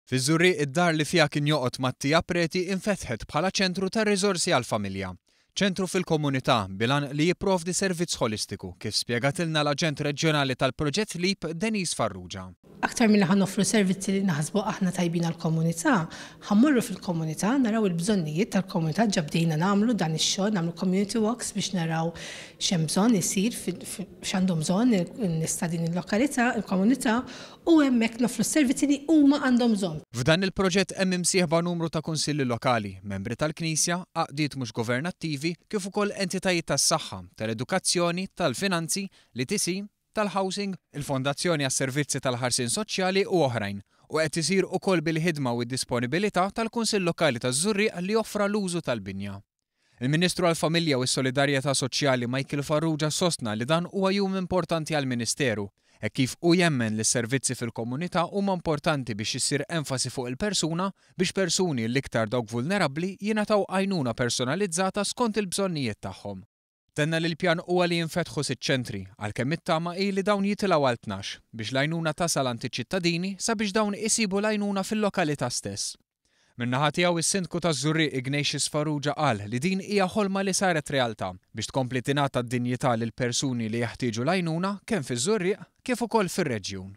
Fiż-Żurrieq id-dar li fiha kien joqgħod Mattia Preti infetħet bħala ċentru ta' riżorsi għall-familja. Ċentru fil-komunità bil-għan li jipprovdi servizz ħolistiku, kif spjegatilna l-Aġent Reġjonali tal-Proġett Leap Denise Farrugia. Aktar milli ħa noffru servizzi li naħsbu aħna tajbin għall-komunità, ħa mmorru fil-komunità naraw il-bżonnijiet tal-komunità, ġa bdejna nagħmlu dan ix-xogħol, nagħmlu community walks biex naraw x'hemm bżonn isir, x'għandhom bżonn in-nies ta' din il-lokalità, il-komunità, u hemmhekk noffru s-servizzi li huma għandhom bżonn. F'dan il-proġett hemm imsieħba numru ta' kunsilli lokali, membri tal-Knisja, għaqdiet mhux governattivi, kif ukoll entitajiet tas-saħħa, tal-edukazzjoni, tal-finanzi, l-ETC, tal-housing, il-Fondazzjoni għas-Servizzi tal-Ħarsien Soċjali u oħrajn, u qed isir ukoll bil-ħidma u d-disponibilità tal-Kunsill Lokali taż-Żurrieq li offra l-użu tal-binja. Il-Ministru għall-Familja u s-Solidarjetà Soċjali Michael Farrugia sostna li dan huwa jum importanti għall-Ministeru, hekk kif hu jemmen li s-servizzi fil-komunità huma importanti biex issir enfasi fuq il-persuna biex persuni l-iktar dawk vulnerabbli jingħataw għajnuna personalizzata skont il-bżonnijiet tagħhom. Tenna li l-pjan huwa li jinfetħu sitt ċentri, għalkemm it-tama hi li dawn jitilgħu għal 12, biex l-għajnuna tasal għand iċ-ċittadini sabiex dawn isibu l-għajnuna fil-lokalità stess. Min-naħa tiegħu is-Sindku taż-Żurrieq Ignatius Farrugia qal li din hija ħolma li saret realtà biex tkompli tingħata d-dinjità lil persuni li jeħtieġu l-għajnuna kemm fiż-Żurrieq kif ukoll fir-reġjun.